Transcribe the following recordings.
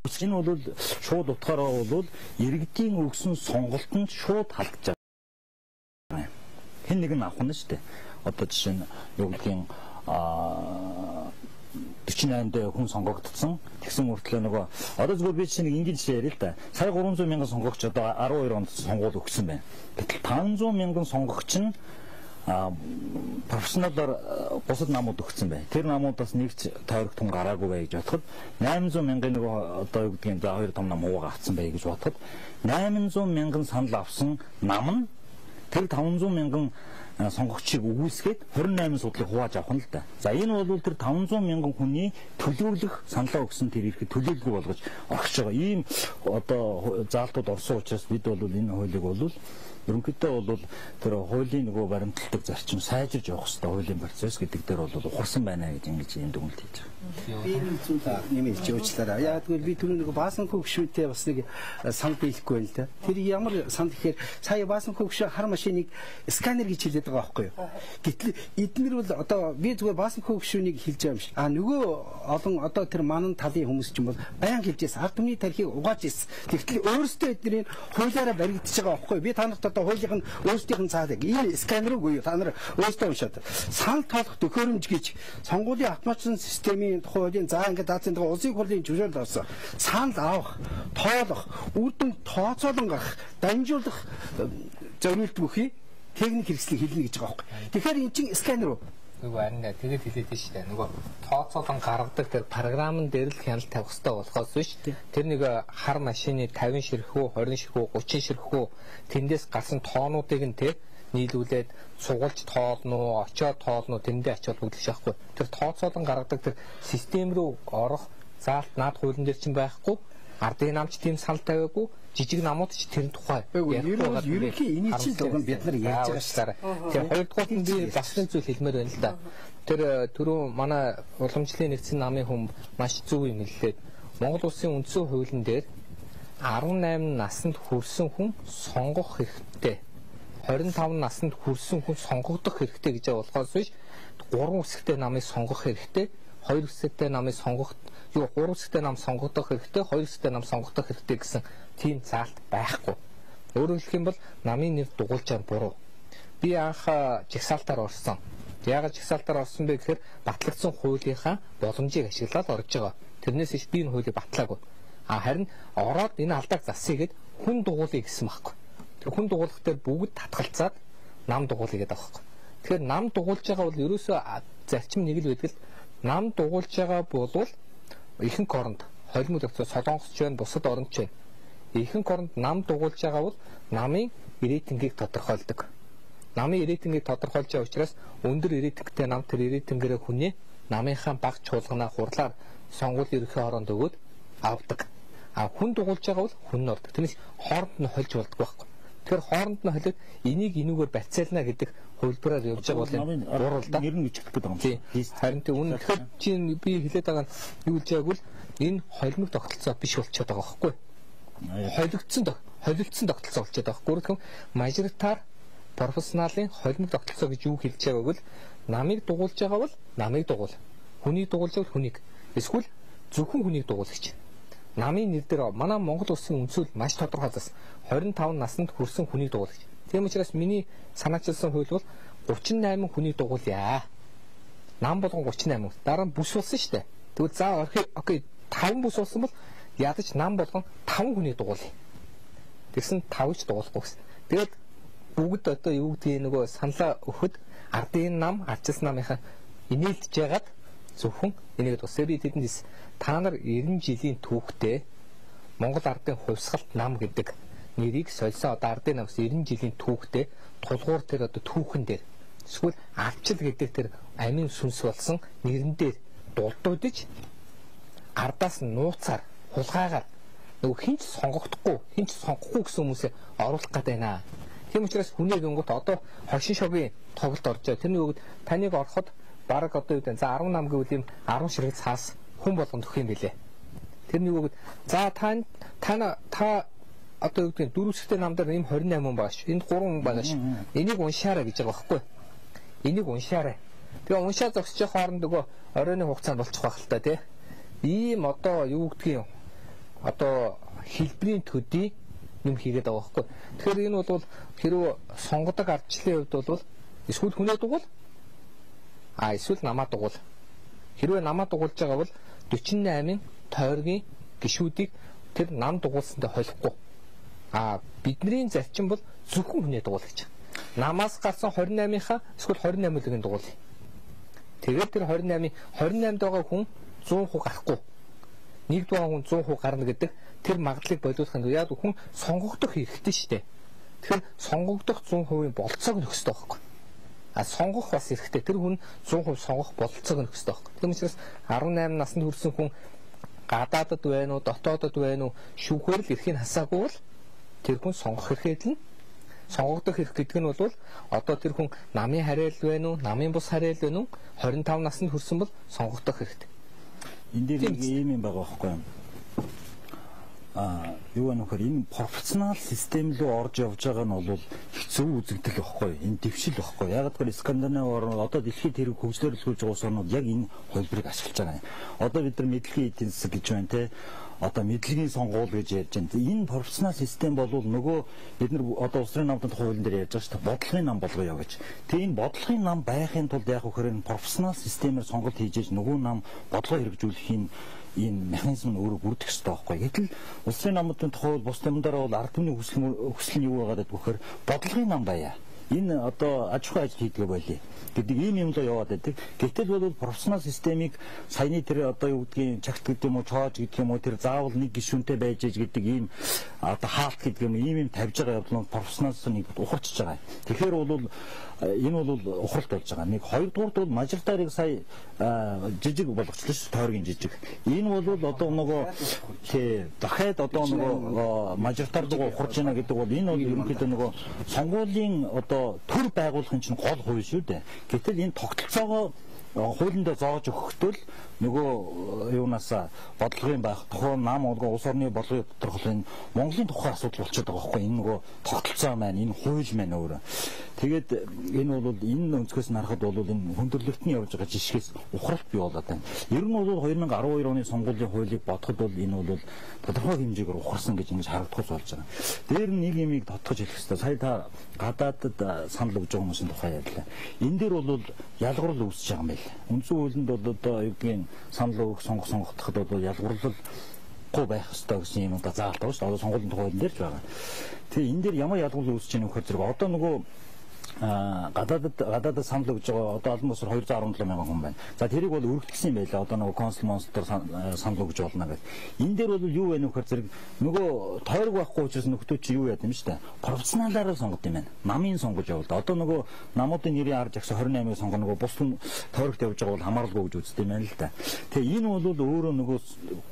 Энэ бол шууд утгаараа бол иргэдийн өгсөн сонголтонд шууд халдж байгаа. Хэн нэг нь авах нь шүү дээ. Одоо жишээ нь юу гэдгийг 48-д хүн сонгогдсон. Тэгсэн мөртлөө нөгөө одоо зүгээр би чинь нэг ингэж яриа л да. Сая 300 мянган сонгогч одоо 12 онд сонгуул өгсөн байна. Гэтэл 500 мянган сонгогч нь профессионалаар бусад намууд өгсөн байна. Тэр намуудаас нэг ч тойрогтон гараагүй бай гэж бодоход 800 мянган нөгөө одоо юу гэдгийг за хоёр том нам уугаа авсан бай гэж бодоход 800 мянган санал авсан нам нь тэр 500 мянган сонгогчийг үгүйсгээд 28 судлыг хувааж авах нь л да. За энэ бол тэр 500 мянган хүний төлөвлөх саналаа өгсөн тэр ирэхэд төлөөлгүй болгож орхиж байгаа. Ийм одоо заалтууд орсон учраас бид бол энэ хуулийг бол ерөнхийдөө бол тэр хуулийн нөгөө баримтлагдаг зарчим сайжирж явах хэрэгтэй хуулийн процесс гэдэг дээр бол ухарсан байна гэж ингэж юм дүгнэлт хийж байгаа. Би энэ зүйлээ нэмэлт уучлаарай. Яг тэгвэл би түрүү нөгөө Баасанхүү гишүүнтэй бас нэг санд хэлэхгүй байл та. Тэр ямар санд гэхээр сая Баасанхүү гишүүн хар машиныг сканер гэж хэлээд байгаа байхгүй юу? Гэтэл эднэр бол одоо би зүгээр Баасанхүү гишүүнийг хэлж байгаа юм шиг. Нөгөө олон одоо тэр манан талын хүмүүс ч юм бол баян хэлж байсан. Ард түмний тархийг угааж ирсэн. Тэгтэл өөрөөсөө эднэрийн хуулиараа баригдчихж байгаа байхгүй юу? Би та нарт одоо хуулийг нь өөрсдийнх нь цаадаг. Энэ сканер үгүй юу? Та нар өөрсдөө уншаад. Санал тоолох төхөөрөмж гэж сонгуулийн автоматжин системийн тухайн за ингээд даацын тухай улсын хурлын зөвшөөрөл авсан. Санал авах, тоолох, үр дүн тооцоолон гарах, дамжуулах зориулт бүхий техник хэрэгслийг хэлнэ гэж байгаа байхгүй. Тэгэхээр эн чинь сканер үү? Нөгөө харин тэгээд хэлээд байна шүү дээ. Нөгөө тооцоолон гаргадаг тэр програмн дээр л хяналт тавих хэрэгтэй болохоос биш. Тэр нэг хар машины 50 ширхүү, 20 ширхүү, 30 ширхүү тэндээс гарсан тоонуудыг нь те нийлүүлээд сугуулж тоолно, очоод тоолно, тэндээ очоод хөдлөх шахахгүй. Тэр тооцоолон гаргадаг тэр систем рүү орох заалт наад хуулийн дээр чинь байхгүй. Ардын намч тийм санал тавиагүй, жижиг намууд ч тэр тухай. Ерөнхий энийг чинь дуган бид нар яаж байгаа шүү. Тэр хоёрдугаар нь би бас нэг зүйл хэлмээр байна л да. Тэр түрүү манай уламжлалын нэгдсэн намын хүн маш зөв юм хэллээ. Монгол улсын үндсэн хуулийн дээр 18 наснд хүрсэн хүн сонгох хэрэгтэй. 25 наснд хүрсэн хүн сонгогдох хэрэгтэй гэж болохоос биш 3 үсэгтэй намыг сонгох хэрэгтэй. 2 үсэгтэй намыг сонгох 3 үсэгтэй нам сонгогдох хэрэгтэй, 2 үсэгтэй нам сонгогдох хэрэгтэй гэсэн тийм заалт байхгүй. Өөрөөр хэлэх юм бол намын нэр дугуулж байгаа буруу. Би анх жигсаалтаар орсон. Яагаад жигсаалтаар орсон бэ гэхээр батлагдсан хуулийнхаа боломжийг ашиглаад орж байгаа. Тэрнээс иш би энэ хуулийг батлаагүй. Харин ороод энэ алдааг засъя гэд хүн дугуулъя гэсэн байхгүй. Тэр хүн дугуулах дээр бүгд татгалцаад нам дугуулъя гэдэг байхгүй. Тэгэхээр нам дугуулж байгаа бол ерөөсөө зарчим нэг л байдаг л нам дугуулж байгаа бол ихэнх оронд холимог тогтцоо солонгосч байна, бусад оронд ч байна. Ихэнх оронд нам дугуулж байгаа бол намын рейтингийг тодорхойлдог. Намын рейтингийг тодорхойлж байгаа учраас өндөр рейтингтэй нам тэр рейтингээрээ хүнээ намынхаа баг чуулганаа хурлаар сонгуулийн ерөнхий оронд өгөөд авдаг. Хүн дугуулж байгаа бол хүн нь ордог. Тэрнээс хооронд нь хольж болдог байхгүй. Тэгэхээр хооронд нь холиод энийг энүүгээр барьцаална гэдэг хувилбараар явж байгаа бол гурвалдаа нэр нь бичих гэдэг юм. Харин тийм үнэн тэгэхээр чинь би хэлээд байгаа нь юу гэж байгааг бол энэ холимог тогтолцоо биш болчиход байгаа байхгүй. Холилдсон тогтолцоо болчиход байгаа. Гүрэх юм мажоритар профессионалын холимог тогтолцоо гэж юу хэлж байгааг бол намыг дугуулж байгаа бол намыг дугуул. Хүнийг дугуулж байгаа хүнийг. Эсвэл зөвхөн хүнийг дугуулагч. Намын нэр дээр манай Монгол улсын үндсүүл маш тодорхой зас 25 наснд хүрсэн хүнийг дугуулагч. Тийм учраас миний санаачилсан хууль бол 38 хүнийг дугуулъя. Нам болгон 38. Дараа нь бүс болсон шүү дээ. Тэгвэл за окей 5 бүс болсон бол ядаж нам болгон 5 хүнийг дугуулъя. Тэгсэн 5-ч дугуулахгүй гэсэн. Тэгээд бүгд одоо юу гэдгийг нөгөө саналаа өгөхөд ардын нам, ардчилсан намынхаа инээлдэж яагаад зөвхөн энийг тусаа би тэдэнд та нар 90 жилийн түүхтэй Монгол ардын хувьсгалт нам гэдэг нэрийг сольсон одоо ардын намс 90 жилийн түүхтэй тулгуур тэр одоо түүхэн дээр эсвэл авчил гэдэг тэр амин сүнс болсон нэрэн дээр дулдуудж ардаас нууцаар хулгайгаар нөгөө хинч сонгогдохгүй хинч сонгохгүй гэсэн хүмүүсээ оруулах гэдэг байна. Тийм учраас хүнийг өнгөт одоо хошин шогийн тоглолт орж байгаа. Тэрний өгд таныг ороход бараг одоо юу гэдэг за 18 гэвэл юм 10 ширхэг цаас хүн болгонд өгөх юм билээ. Тэрний өгд за та одоо юу гэдэг дөрөвсөтэй намдаар юм 28 хүн байгаа ш. Энд 3 хүн байгаа ш. Энийг уншаарай гэж байгаа байхгүй. Энийг уншаарай. Тэгээ уншаа зогсчих хооронд нөгөө оройны хугацаанд болчих байх л та тий. Ийм одоо юу гэдгийг одоо хэлбэрийн төдий юм хийгээд байгаа байхгүй. Тэгэхээр энэ бол хэрвээ сонгодог ардчлалын хувьд бол эсвэл хүнээ дугуул эсвэл намаа дугуул. Хэрвээ намаа дугуулж байгаа бол 48-ын тойргийн гишүүдийг тэр нам дугуулсантай холихгүй. Бидний зарчим бол зөвхөн хүнээ дугуул гэж. Намаас гарсан 28-ынхаа эсвэл 28-ын дугуулъя. Тэгээд тэр 28-д байгаа хүн 100% гарахгүй. Нэгд байгаа хүн 100% гарна гэдэг тэр магадлалыг болиулахын тулд яг хүн сонгогдох хэрэгтэй шүү дээ. Тэгэхээр сонгогдох 100% болцоог нөхөстэй байхгүй. Сонгох бас хэрэгтэй. Тэр хүн 100% сонгох болцоог нөхөстэй байхгүй. Тийм учраас 18 наснд хүрсэн хүн гадаадд байна уу, дотоодд байна уу, шүүхээр л эрхийг хасаагүй бол тэр хүн сонгох эрхээд л сонгогдох эрх гэдэг нь бол одоо тэр хүн намын харайл байна уу, намын бус харайл байна уу, 25 наснд хүрсэн бол сонгогдох хэрэгтэй. Энд дээр нэг юм байгаа байхгүй юу? Юу нөхөр энэ пропорционал систем рүү орж явж байгаа нь бол хэцүү үзэгдэл байхгүй. Энэ дэвшил байхгүй. Яг гэвэл Скандинав орнууд одоо дэлхийд хэрэг хөгжлөрлөж байгаа улс орнууд яг энэ хөлбөрийг ашиглаж байгаа юм. Одоо бид нар мэдлэгийн эдийн засаг гэж байна те. Одоо мэдлэгийн сонгуул гэж ярьж байна. Энэ пропорционал систем бол нөгөө бид нар одоо улсын намтанд хуулийн дээр ярьж байгаа шүү дээ. Бодлогын нам болгоё гэж. Тэгээ энэ бодлогын нам байхын тулд яг хөөрэн пропорционал системээр сонголт хийж нөгөө нам бодлого хэрэгжүүлэхийн энэ механизм нь өөрөө бүрдэх ёстой байхгүй. Гэтэл улсын намуудын тухай бус юмдаараа бол ард түмний хүсэл нь юу байгаад гэхээр бодлогын нам байя. Энэ одоо аж ахуй ажил хийдгээ болий гэдэг ийм юм л яваад байдаг. Гэтэл бол профессионал системийг саяны тэр одоо юу гэдгийг чагт гэдэг юм уу, чоож гэдэг юм уу, тэр заавал нэг гишүүнтэй байж ээж гэдэг ийм одоо хаалт гэдэг юм тавьж байгаа явдал нь профессионалс нэг ухарчж байгаа. Тэгэхээр бол энэ бол ухралт болж байгаа. Нэг хоёрдугаарт бол мажоритарыг сая жижиг болгочлоо шүү, тойргийн жижиг. Энэ бол одоо нөгөө дахиад одоо нөгөө мажоритар дугаа ухарж байна гэдэг бол энэ бол ерөнхийдөө нөгөө сонгуулийн одоо төр байгуулахын чинь гол хувь шүү дээ. Гэтэл энэ тогтолцоогоо хуулиндаа зоож өгөхдөө л нөгөө юунаас бодлогын байх тухай нам олгоо улс орны бодлогын тодорхойлын Монголын тухай асуудал болчиход байгаа байхгүй. Энэ нөгөө тогтолцоо маань, энэ хууль маань өөрөө. Тэгээд энэ бол энэ өнцгөөс нь харахад бол энэ хөндөрлөлтний явж байгаа жишгээс ухралт бий болоод байна. Ер нь бол 2012 оны сонгуулийн хуулийг бодоход бол энэ бол тодорхой хэмжээгээр ухарсан гэж ингэж харагдах болж байгаа. Дээр нь нэг юмыг тодтогч хэлэх хэрэгтэй. Сая та гадаадд санал өгж байгаа хүмүүсийн тухай ярьлаа. Энэ дээр бол ялгуурл үүсэж байгаа юм байна. Үндсэн хуулинд бол одоо юу гэдгийг санал өгөх сонгохдоход бол ялгуурлалгүй байх ёстой гэсэн юм одоо заалт байгаа шүү дээ. Одоо сонгуулийн тухай дээр ч байгаа. Тэгээ энэ дээр ямар ялгуурлал үүсэж байгаа нөхөр зэрэг одоо нөгөө гадаадд санал өгж байгаа одоо олон улсаар 217 мянган хүн байна. За тэрийг бол өргөдсөн юм байлаа. Одоо нөгөө консул монстер санал өгж болно гэдэг. Энэ дээр бол юу вэ нөхөр зэрэг нөгөө тойрог байхгүй учраас нөхдөө чи юу яд юм шүү дээ. Профессионалаараа сонгод юм байна. Намын сонгож явуулда. Одоо нөгөө намуудын нэрийн арж агш 28-ыг сонгоно нөгөө бус тойрогт явж байгаа бол хамааралгүй гэж үздэг юм байна л да. Тэгээ энэ бол өөрөө нөгөө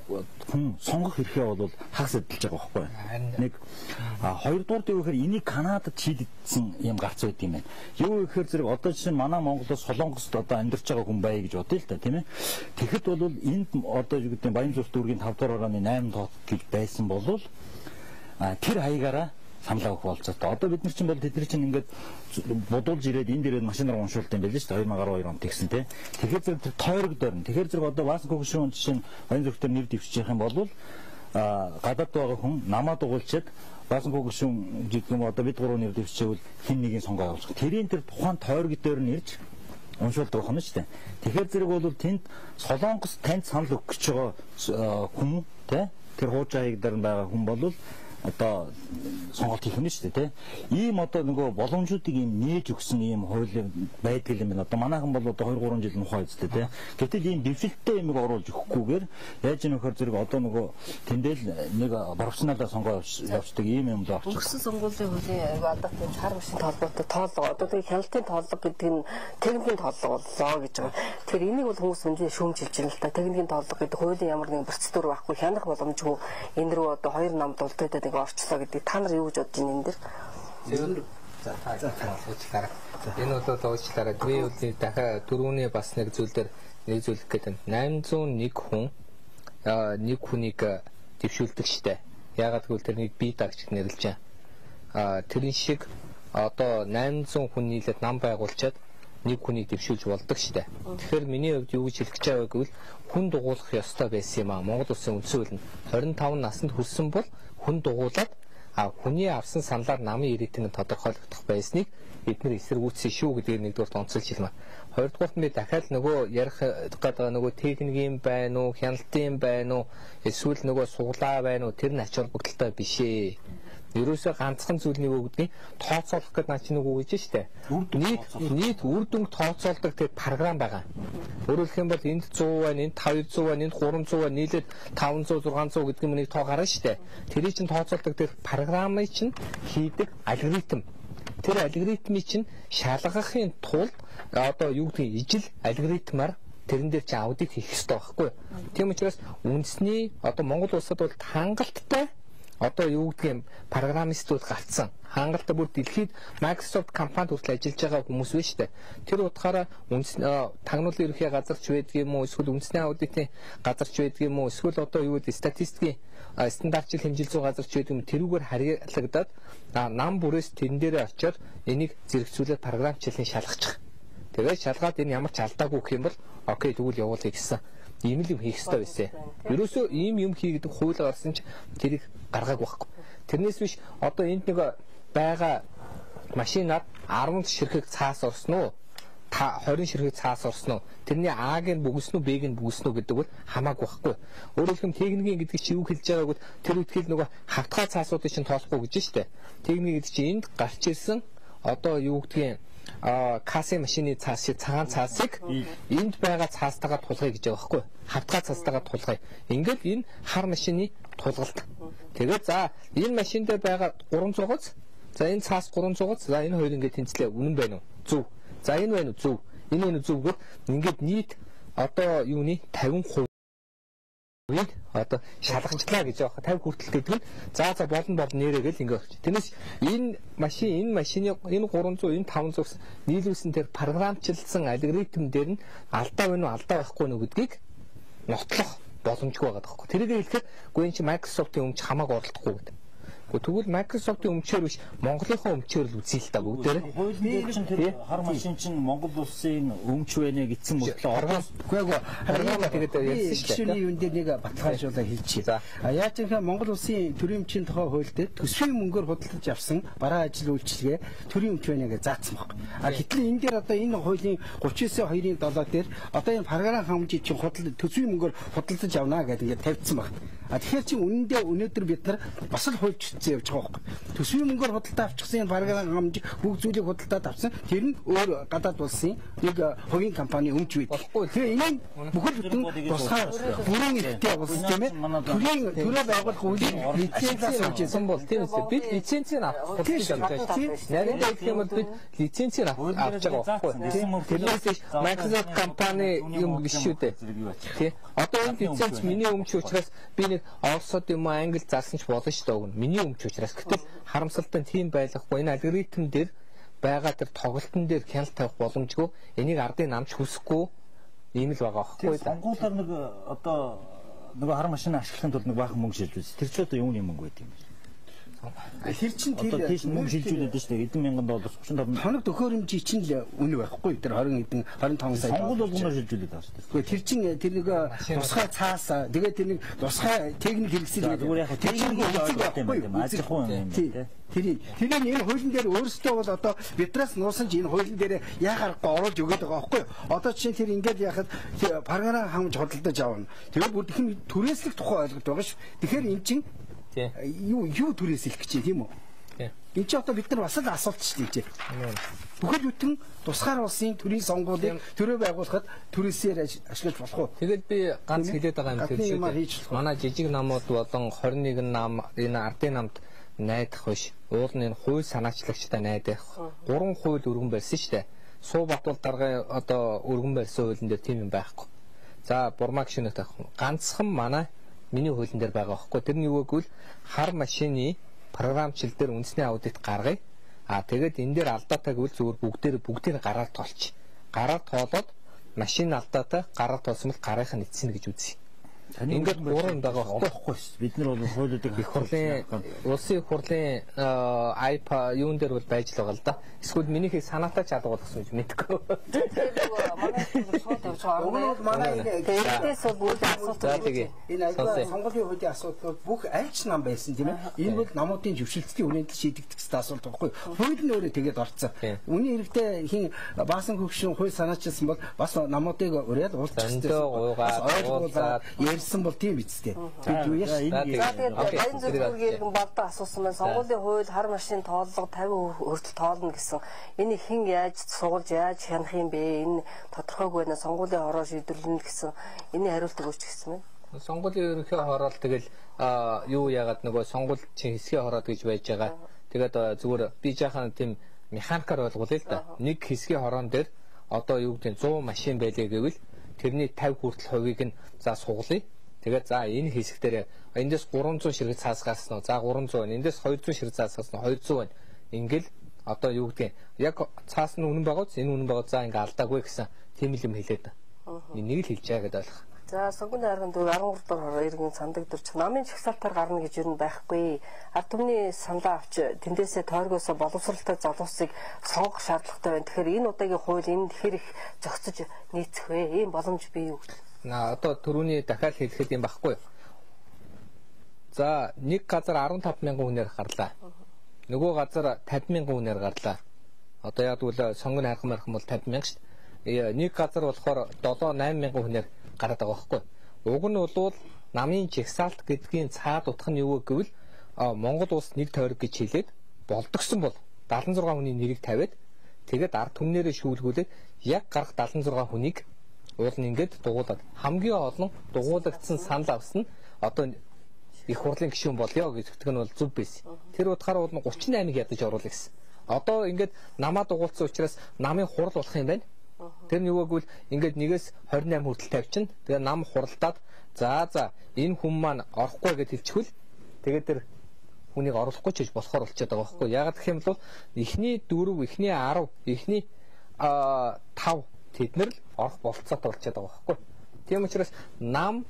хүн сонгох эрхээ бол хагас эдэлж байгаа байхгүй. Нэг хоёрдугаар юу гэхээр энийг Канадад шийдсэн юм гарц байт юм байна. Юу гэхээр зэрэг одоо жишээ нь манай Монголоос Солонгост одоо амьдарч байгаа хүн бай гэж бодъё л да тийм ээ. Тэгэхэд бол энд одоо юу гэдэг нь Баян зүрх дүүргийн 5 дугаар орооны 8 тоот гэж байсан бол тэр хаягаараа саналаа өгөх болцоотой. Одоо бид нар чинь бол тэдний чинь ингээд бодуулж ирээд энэ дээрээ машинаар уншуулт юм байл шүү дээ 2012 онд тэгсэн тийм. Тэгэхээр зэрэг тэр тойрог дөрн. Тэгэхээр зэрэг одоо Вааско гүшүүн жишээ нь Баян зүрхтэр нэр дэвшчих юм бол гадаад байгаа хүн намаа дугуулчаад Вааско гүшүүн гэдэг юм одоо бид гурав нэр дэвшчихвэл хин нэгийн сонгоо явуулах. Тэрийн тэр тухайн тойрог дээр нь ирж уншуулдаг байна шүү дээ. Тэгэхээр зэрэг бол тэнд Солонгос танд санал өгөх гэж байгаа хүн тийм тэр хуучааг дээр байгаа хүн бол одоо сонголт хийх нь шүү дээ тийм. Ийм одоо нөгөө боломжуудыг ийм нээж өгсөн ийм хууль байдаг юм байна. Одоо манайхан бол одоо 2 3 жил мухаа үзтээ тийм. Гэтэл ийм дэвшилттэй юмыг оруулж өгөхгүйгээр яаж нөхөр зэрэг одоо нөгөө тэндэл нэг профессионалаа сонгоо явуулдаг ийм юм л авчих. Өгсөн сонгуулийн хуулийн одоо тийм хар машин толгойтой тоолго одоо тийм хяналтын тоолго гэдэг нь техникийн тоолго боллоо гэж байгаа. Тэгэхээр энийг бол хүмүүс үнэхээр шүүмжилж байна л да. Техникийн тоолго гэдэг хуулийн ямар нэгэн процедур байхгүй хянах боломжгүй энэ рүү одоо 2 нам дулдаад орчлоо гэдэг. Та нар юу гэж бодож байна энэ дэр? За уучлаарай. Энэ бол уучлаарай. Би үгүй дахиад дөрөвний бас нэг зүйл дээр нэг зүйлх гэдэг 801 хүн нэг хүнийг дэвшүүлдэг штэ. Ягаад гэвэл тэрнийг бие дагч нэрлэж байна. Тэрэн шиг одоо 800 хүн нийлээд нам байгуулчаад нэг хүнийг дэвшүүлж болдог штэ. Тэгэхээр миний хувьд юу гэж хэлэх гэж байгаа гэвэл хүн дугуулах ёстой байсан юм аа. Монгол улсын үндсэн хууль нь 25 наснд хүрсэн бол хүн дугуулад хүний авсан саналаар намын ирээдүйг тодорхойлогдох байсныг бид нэр эсэргүүцсэн шүү гэдгийг нэгдүгээр онцолж хэлмэ. Хоёрдугаар нь би дахиад нөгөө ярих гэдэг нөгөө техникийн байна уу, хяналтын байна уу, эсвэл нөгөө суглаа байна уу, тэр нь ач холбогдолтой биш ээ. Ерөөсөө ганцхан зүйл нэг үгдгийн тооцоолох гэдэг наа чи нэг үг гэж штэ. Нийт үр дүнг тооцоолдог тэр програм байгаа. Өөрөөр хэлэх юм бол энд 100 байна, энд 200 байна, энд 300 байна, нийлээд 500 600 гэдэг нэг тоо гарна штэ. Тэрийг чинь тооцоолдог тэр програмыг чинь хийдэг алгоритм. Тэр алгоритмыг чинь шалгахын тулд одоо юу гэдгийг ижил алгоритмаар тэрэн дээр чи аудит хийх хэрэгтэй байхгүй. Тийм учраас үндэсний одоо Монгол улсад бол хангалттай одоо юу гэдгийг программистууд гарцсан. Хангалттай бүр дэлхийд Microsoft компанид хүртэл ажиллаж байгаа хүмүүс байна шүү дээ. Тэр утгаараа тагнуулын ерөнхий газарч байдаг юм уу, эсвэл үндэсний аудитын газарч байдаг юм уу, эсвэл одоо юу гэдэг статистикийн стандартчил хэмжил зүй газарч байдаг юм, тэрүүгээр харьяалагдаад нам бүрээс тэрэн дээрээ очиод энийг зэрэгцүүлээд програмчлалын шалгачих. Тэгээд шалгаад энэ ямар ч алдаагүй гэх юм бол окей тэгвэл явуулъя гэсэн. Ийм л юм хийх хэрэгтэй байсан. Ерөөсөө ийм юм хийгээд хууль гарсан ч тэрийг гаргаагүй байхгүй. Тэрнээс биш одоо энд нэг байгаа машинаар 10 ширхэг цаас орсон уу? 20 ширхэг цаас орсон уу? Тэрний А-г нь бүгснүү, Б-г нь бүгснүү гэдэг бол хамаагүй байхгүй. Өөрөөр хэлбэл техникийн гэдэг чи юу хэлж байгааг бол тэр үтгэл нөгөө хавтгай цаасуудыг чинь тоолохгүй гэж штэ. Техник гэдэг чи энд гарч ирсэн одоо юу гэдгийг кассын машины цаас шиг цагаан цаасыг энд байгаа цаастайгаа тулгая гэж байгаа байхгүй. Хавтгай цаастайгаа тулгая. Ингээд энэ хар машины тулгалт. Тэгээд за энэ машин дээр байгаа 300-ц. За энэ цаас 300-ц. За энэ хоёр ингээд тэнцлээ. Үнэн байна уу? Зөв. За энэ байна уу? Зөв. Энэ байна уу? Зөв гэвэл ингээд нийт одоо юуны 50% одоо шалгажлаа гэж байгаа 50 хүртэл гэдэг нь за болно нэрээ гэл ингэ өгч. Тэрнээс энэ машины энэ 300 энэ 500 нийлүүлсэн тэр програмчлсан алгоритм дээр нь алдаа байна уу алдаа байхгүй нү гэдгийг нотлох боломжгүй байгаа байхгүй. Тэрийг хэлэхэд гүн чи Microsoft-ийн өмч хамаагүй оролдохгүй гэдэг. Тэгвэл Microsoft-ийн өмчөөр биш Монголынхоо өмчөөр л үзье л та бүгдээрээ. Хуулийн чинь тэр хар машин чинь Монгол улсын өмч байна гэсэн мөртлөө оргоогүй тэгээд ярьсан шүү дээ. Юун дээр нэг баталгаажуулаа хэлчихье. Яаж гэвэл Монгол улсын төрийн өмчийн тухай хууль дээр төсвийн мөнгөөр худалдаж авсан бараа ажил үйлчилгээ төрийн өмч байна гэж заасан баг. Гэтэл энэ дээр одоо энэ хуулийн 39/2-7 дээр одоо энэ програм хангамжийг чинь төсвийн мөнгөөр худалдаж авна гэдэг ингээд тавьдсан баг. Тэгэхээр чи үнэндээ өнөөдөр бид нар бас л хуульч явж байгаа байхгүй. Төсвийн мөнгөөр худалдаа авчихсан энэ програм хангамж бүгд зүйлийг худалдаад авсан. Тэр нь өөр гадаад улсын нэг хувийн компани өмч байдаг. Тэгээ энэ бүхэл бүтэн тусгаар бүрэн ихтэй улс тийм ээ. Төрөө байгуулах үйл лицензийг авчихсан бол тийм үү? Бид лицензийг авах гэж байна. Нарийн гэх юм бол бид лицензийг авч байгаа байхгүй. Тэрнээс Microsoft компани юм биш шүү дээ. Тий. Одоо энэ лиценз миний өмч учраас би нэг Оросод юм Англи зарсан ч болно шүү дээ. Миний өмч учраас гэтэл харамсалтай тийм байхгүй. Энэ алгоритм дээр байгаа тэр тоглолтын дээр хяналт тавих боломжгүй. Энийг ардын намч хүсэхгүй ийм л байгаа байхгүй. Сонгуулаар нэг одоо нөгөө хар машин ашиглахын тулд нэг баахан мөнгө шилжүүлсэн. Тэр ч одоо юуны мөнгө байт юм бэ? Тэр чинь тэр мөнгө шилжүүлээд шүү дээ. $1,000 $35 хоног төхөөрөмжийн чинь л үнэ байхгүй. Тэр 25 сая сонгуул болгоноор шилжүүлээд байгаа шүү дээ. Тэр чинь тэр нэг тусгай цаас тэгээд тэр нэг тусгай техник хэрэгсэл зүгээр яг техник байхгүй ажих уу юм тийм. Тэр энэ хуулийн дээр өөрсдөө бол одоо бидраас нуусан ч энэ хуулийн дээр яхаарахгүй оруулж өгöd байгаа байхгүй. Одоо чинь тэр ингээд яхад програм хангамж худалдаж авна. Тэгээд бүр тэхэн түрээслэх тухай ойлголт байгаа ш. Тэгэхээр эн чинь юу түрээсэлэх гэж тийм үү? Энд чинь одоо бид нар бас л асуулт шүү дээ. Бүхэл бүтэн тусгаар улсын төрийн сонгуулийг төрөө байгуулахад түрээсээр ашиглаж болох уу? Тэгэл би ганц хэлээд байгаа юм тэр шүү дээ. Манай жижиг намууд болон 21 нам энэ ардын намд найдах биш. Уул нь энэ хууль санаачлагчтай найдах. 3 хууль өргөн барьсан шүү дээ. Суубат бол даргын одоо өргөн барьсан хуулийн дээр тийм юм байхгүй. За бурмаг шинэ таах. Ганцхан манай миний хуулийн дээр байгаа байхгүй. Тэр нь юу гэвэл хар машины програмчил дээр үндэсний аудит гаргая. Тэгээд энэ дээр алдаатай гэвэл зүгээр бүгдээр гараар тоолч. Гараар тоолоод машин алдаатай гараар тоолсон бол гарынх нь эцсэнэ гэж үзье. Ингээд гурван байгаа болохгүй шүү. Бид нар бол хуулиудыг их хурлын улсын их хурлын айпа юун дээр бол байж л байгаа л да. Эсвэл минийхийг санаатай ч алга болгосон гэж мэдгүй. Манай Тэрнээс бол үйл асуулт энэ сонгуулийн хуулийн асуудал бүх альч нам байсан тийм ээ. Энэ бол намуудын зөвшөлтийн үнэндэл шийдэгдэх ёстой асуулт байхгүй. Хууль нь өөрөө тэгээд орцсон. Үүний хэрэгтэй хин баасан хөгшин хууль санаачилсан бол бас намуудыг ураад уулзчихсан. Ойлгуулаад ярьсан бол тийм үстэй. Бид юу яаш. Баян зөвлөгөөрийг балдан асуусан байна. Сонгуулийн хууль хар машин тооллого 50% хүртэл тоолно гэсэн. Энийг хэн яаж суулж яаж хянах юм бэ? Энэ тодорхойгүй байна. Сонгуулийн хороо шийдвэрлэнэ гэсэн. Эний хариултыг өгч гисэн байна. Сонгуулийн ерөнхий хороол тэгэл юу яагаад нөгөө сонгуул чинь хэсгийн хороод гэж байж байгаа. Тэгээд зүгээр би жаахан тийм механикаар ойлгуулъя л да. Нэг хэсгийн хороон дээр одоо юу гэдэг 100 машин байлээ гэвэл тэрний 50 хүртэл хувийг нь за суглая. Тэгээд за энэ хэсэг дээр эндээс 300 ширхэг цаас гарсан уу? За 300 байна. Эндээс 200 ширхэг цаас гарсан уу? 200 байна. Ингээл одоо юу гэдэг яг цаас нь үнэн байгаа ч энэ үнэн байгаа за ингээ алдаагүй гэсэн тийм л юм хэлээд. Энийг л хэлж байгаа гэдэг ойлгох. За сонгуулийн аргын 13 дугаар иргэн сандагдварч намын чагсаалтаар гарна гэж юу байхгүй. Ард түмний саналаа авч тэндээсээ тойргоосоо боловсралтай залуусыг сонгох шаардлагатай байна. Тэгэхээр энэ удаагийн хууль энд хэр их зохицож нийцэх вэ? Ийм боломж бий юу? Одоо түрүүний дахиад хэлэхэд юм байхгүй. За нэг газар 15,000 хүнээр гарлаа. Нөгөө газар 50,000 хүнээр гарлаа. Одоо яг үл сонгоны арга бол 50,000 шүү дээ. Нэг газар болохоор 7-8,000 хүнээр гараад байгаа байхгүй. Уг нь бол намын жагсаалт гэдгийн цаад утга нь юу гэвэл Монгол улс нэг тойрог гэж хэлээд болдгсон бол 76 хүний нэрийг тавиад тэгээд ард түмнэрээ шүүлгүүлээд яг гарах 76 хүнийг уул нь ингээд дугуулад хамгийн олон дугуулагдсан санал авсан нь одоо их хурлын гишүүн болёо гэж зөвтгөн бол зөв байсан. Тэр утгаараа бол 38-ыг ядаж оруулах гэсэн. Одоо ингээд намаа дугуулсан учраас намын хурал болох юм байна. Тэр нь юу гэвэл ингээд 1-ээс 28 хүртэл тавьчихна. Тэгээ нам хуралдаад за энэ хүн маань орохгүй гэж хэлчихвэл тэгээд тэр хүнийг оруулахгүй ч гэж болохоор болчиход байгаа байхгүй. Ягаад гэх юм бол эхний 4, эхний 10, эхний 5 тэд нар л орох болцоотой болчиход байгаа байхгүй. Тийм учраас нам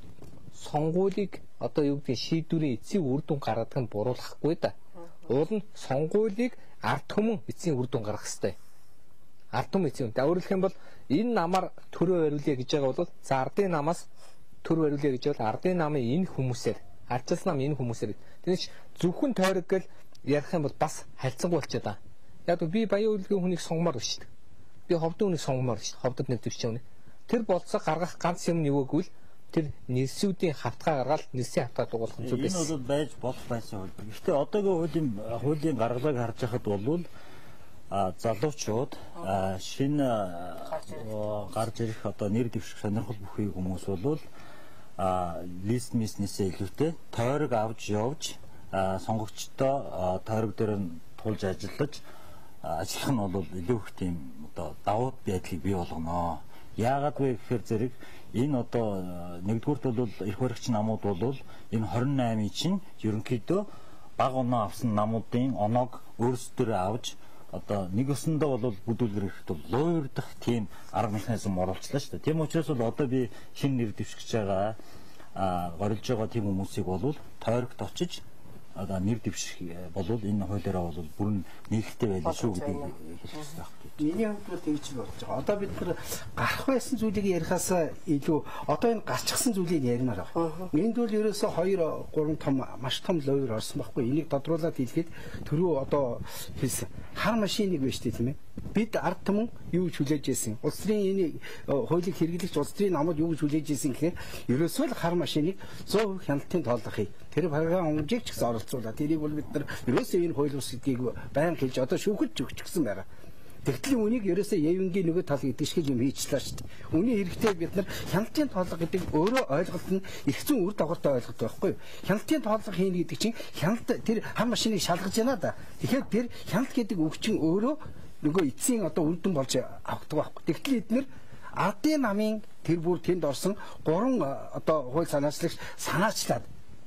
сонгуулийг одоо юу гэдэг шийдвэрийн эцсийн үр дүн гаргадаг нь буруулахгүй да. Уул нь сонгуулийг ард түмэн эцсийн үр дүн гаргах хэрэгтэй. Ард түмэн эцсийн. Өөрөлдөх юм бол энэ намаар төрөө бариулъя гэж байгаа бол за ардын намаас төр бариулъя гэж бол ардын намын энэ хүмүүсээр ардчилсан нам энэ хүмүүсээр тэгэж зөвхөн тойрог гэл ярих юм бол бас харьцангуй болчиход байгаа. Яг би баян үйлгийн хүнийг сонгомоор байна шүү дээ. Би ховдын хүнийг сонгомоор шүү дээ. Ховдод нэг төвчөө үнэ. Тэр болцоо гаргах ганц юм нь юу гэвэл тэр нэрсүүдийн хавтгаа гаргаад нэрсийн хавтгаа дугуулах зүйл байсан. Энэ бол байж болох байсан хөл. Гэхдээ одоогийн хуулийн гаргалыг харж байхад бол залуучууд шинэ гарч ирэх одоо нэр дэвших сонирхол бүхий хүмүүс бол лист миснээсээ илүүтэй тойрог авч явж сонгогчдоо тойрог дээр нь тулж ажиллаж ажиллах нь бол илүү их тийм одоо давуу байдлыг бий болгоно. Яагаад вэ гэхээр зэрэг энэ одоо нэгдүгürt бол эрх баригч намууд бол энэ 28-ийн чинь ерөнхийдөө баг оноо авсан намуудын оноог өөрсдөө авч одоо нэг өсөндөө бол бүдүүлгэр ирэхэд луурдах тийм арга механизм оруулчлаа шүү дээ. Тийм учраас бол одоо би шинэ нэр дэвшгэж байгаа горилж байгаа тийм хүмүүсийг бол тойрогт очиж одоо нэр дэвших бол энэ хуулиараа бол бүрэн нэгтэй байлаа шүү гэдгийг хэлэх хэрэгтэй байна. Миний хувьд бол тэгж болж байгаа. Одоо бид нар гарах байсан зүйлийг ярихаас илүү одоо энэ гарчихсан зүйлийг яринаар байна. Энд бол ерөөсөө 2-3 том маш том лойр орсон байхгүй. Энийг тодруулаад хэлгээд түрүү одоо хэлсэн. Хар машиныг байна шүү дээ тийм ээ. Бид ард түмэн юу гэж хүлээж ийсэн. Улс төрийн энэ хуулийг хэрэглэгч улс төрийн намууд юу гэж хүлээж ийсэн гэхээр ерөөсөө л хар машиныг 100% хяналтын тооллохыг тэр програм хэмжээг ч гэсэн оролцуулаад тэрийг бол бид нар ерөөсөө энэ хууль ус гэдгийг байнга хэлж одоо шүүхэд ч өгчихсэн байгаа. Тэгтлийн үнийг ерөөсөө явингийн нөгөө тал гэдэг шиг юм хийчлээ шүү дээ. Үний хэрэгтэй бид нар хяналтын тооллого гэдэг өөрөө ойлголт нь их зүүн үр дагавартай ойлголт байхгүй юу? Хяналтын тооллого хийнэ гэдэг чинь хяналт тэр хар машиныг шалгаж яана да. Тэгэхээр тэр хяналт гэдэг үг чинь өөрөө нөгөө эцсийн одоо үр дүн болж авдаг байхгүй. Тэгтэл эдгээр ардын намын тэр бүр тэнд орсон 3 одоо хууль санаачлагч санаачлаад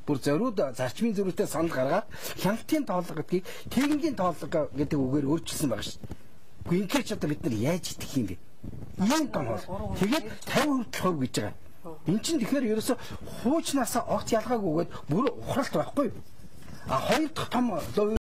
бүр зориуд зарчмын зөрүүтэй санал гаргаад хяналтын тооллого гэдгийг техникийн тооллого гэдэг үгээр өөрчилсөн байгаа шүү дээ. Гэхдээ ч одоо бид нар яаж идэх юм бэ? Ийм том бол. Тэгээд 50% гэж байгаа. Эн чинь тэгэхээр ерөөсө хуучнаасаа огт ялгаагүйгээд бүр ухралт байхгүй юу? А хоёр дахь том